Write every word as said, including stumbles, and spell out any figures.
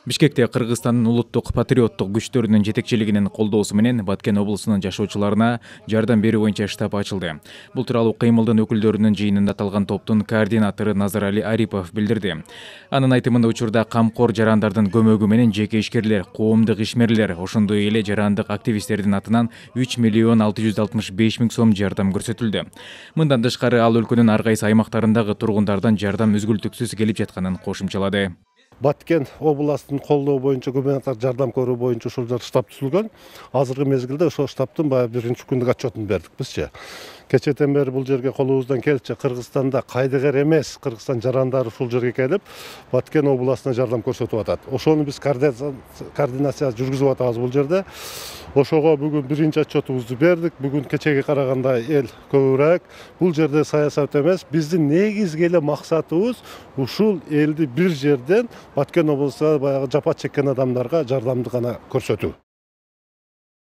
Бишкекте Кыргызстандын улуттук патриоттук күчтөрүнүн жетекчилигинин колдоосу менен Баткен облусунун жашоочуларына жардам берүү боюнча штаб ачылды. Бул тууралуу кыймылдын өкүлдөрүнүн жыйынында аталган топтун координатору Назарали Арипов билдирди. Анын айтымында учурда камкор жарандардын көмөгү менен жеке ишкерлер, коомдук ишмерлер, ошондой эле жарандык активисттердин атынан үч миллион алты жүз алтымыш беш миң сом жардам көрсөтүлдү. Мындан тышкары ал өлкөнүн ар кайсы аймактарындагы тургундардан жардам үзгүлтүксүз келип жатканын кошумчалады. Баткен областын колдоо боюнча гуманитар жардам көрүү боюнча ушул штаб түзүлгөн. Азыркы мезгилде ошол штабтын баягы биринчи күндүк отчетун бердик бизчи. Кечэтен бери бул жерге колубуздан келчи Кыргызстанда кайдыгер эмес Кыргызстан жарандары ушул жерге келип, Баткен областына жардам көрсөтүп атат. Ошону биз координация жүргүзүп атабыз бул жерде. Ошого бүгүн биринчи отчетубузду бердик. Бүгүн кечеге караганда эл көбүрөөк. Бул жерде саясат эмес, биздин негизги эле максатыбыз ушул элди бир жерден Баткен облусуна баягы жапа чеккен адамдарга жардамды гана көрсөтүү.